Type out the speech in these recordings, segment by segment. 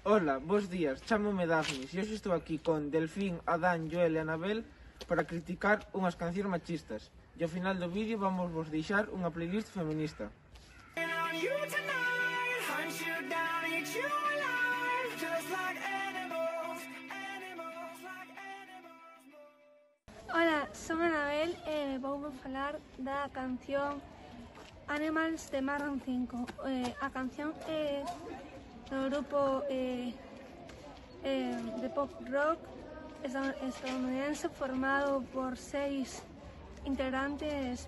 Ola, bos días, chámome Dafnis e hoxe estou aquí con Delfín, Adán, Joel e Anabel para criticar unhas cancións machistas. E ao final do vídeo vamos vos deixar unha playlist feminista. Ola, son Anabel e vou falar da canción Animals de Maroon 5. A canción é do grupo de pop rock estadounidense formado por 6 integrantes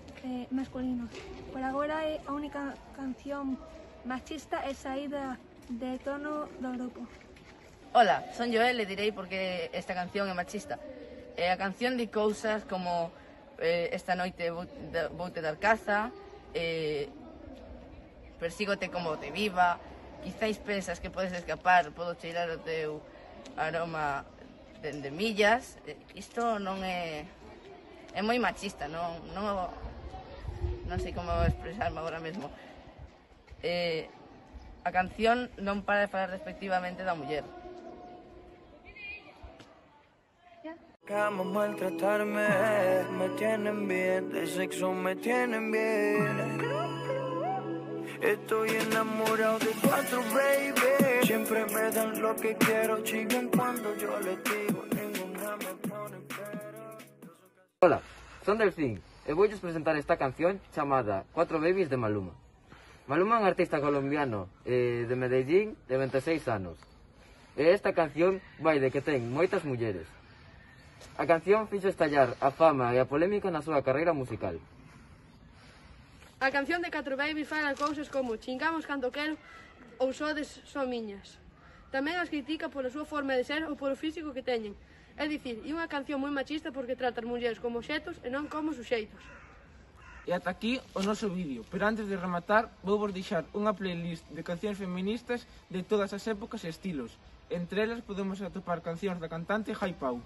masculinos. Por agora é a única canción machista e saída de tono do grupo. Ola, son Joel e direi porque esta canción é machista. A canción di cousas como esta noite voute dar caza, persígote como te viva, quizáis pensas que podes escapar, podo cheirar o teu aroma de millas. Isto non é moi machista, non sei como expresarme agora mesmo. A canción non para de falar despectivamente da muller. Cama maltratarme, me tienen bien, de sexo me tienen bien. Estoy enamorado de 4, baby. Siempre me dan lo que quiero, chinguen cuando yo les digo, ninguna me pone pero. Hola, son Delfín e voulles presentar esta canción chamada 4 Babies de Maluma. Maluma é un artista colombiano de Medellín de 26 anos. E esta canción vai de que ten moitas mulleres. A canción fixo estallar a fama e a polémica na súa carreira musical. A canción de 4 Babies fala cousas como chingamos cando quero ou sodes son miñas. Tamén as critica pola súa forma de ser ou polo físico que teñen. É dicir, é unha canción moi machista porque trata as mulleres como obxectos e non como suxeitos. E ata aquí o noso vídeo, pero antes de rematar vou vos deixar unha playlist de cancións feministas de todas as épocas e estilos. Entre elas podemos atopar cancións da cantante Jai Pau.